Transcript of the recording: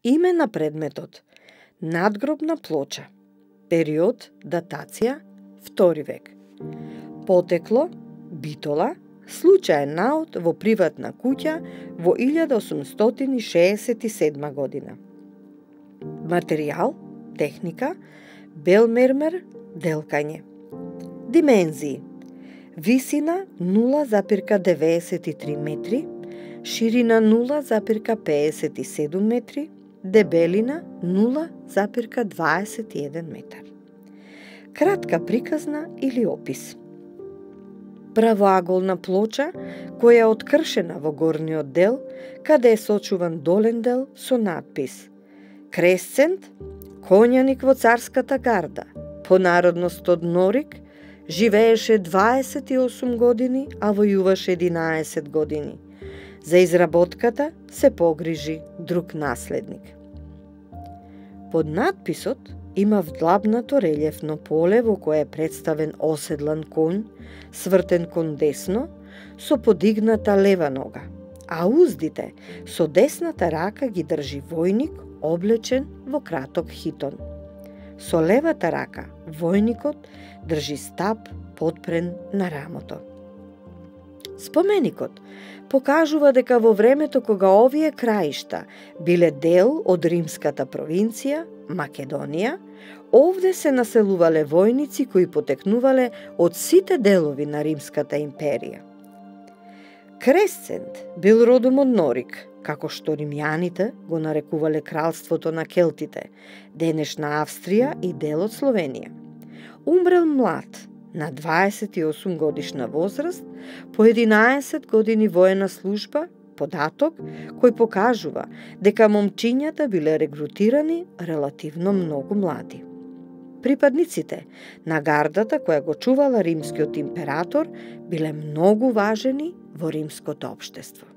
Име на предметот: надгробна плоча. Период, датација, 2 век. Потекло: Битола, случаен наод во приватна куќа во 1867 година. Материјал, техника, бел мермер, делкање. Димензии: висина 0,93 метри, ширина 0,57 метри, дебелина 0,21 метар. Кратка приказна или опис. Правоаголна плоча која е откршена во горниот дел, каде е сочуван долен дел со надпис: Кресцент, коњаник во царската гарда, по народност од Норик, живееше 28 години, а војуваше 11 години. За изработката се погрижи друг наследник. Под надписот има вдлабнато релјефно поле во кое е представен оседлан конј, свртен кон десно, со подигната лева нога, а уздите со десната рака ги држи војник облечен во краток хитон. Со левата рака војникот држи стап подпрен на рамото. Споменикот покажува дека во времето кога овие краишта биле дел од римската провинција Македонија, овде се населувале војници кои потекнувале од сите делови на Римската империја. Кресцент бил родом од Норик, како што римјаните го нарекувале кралството на келтите, денешна Австрија и дел од Словенија. Умрел млад, на 28 годишна возраст, по 11 години воена служба, податок кој покажува дека момчињата биле регрутирани релативно многу млади. Припадниците на гардата која го чувала римскиот император биле многу важени во римското општество.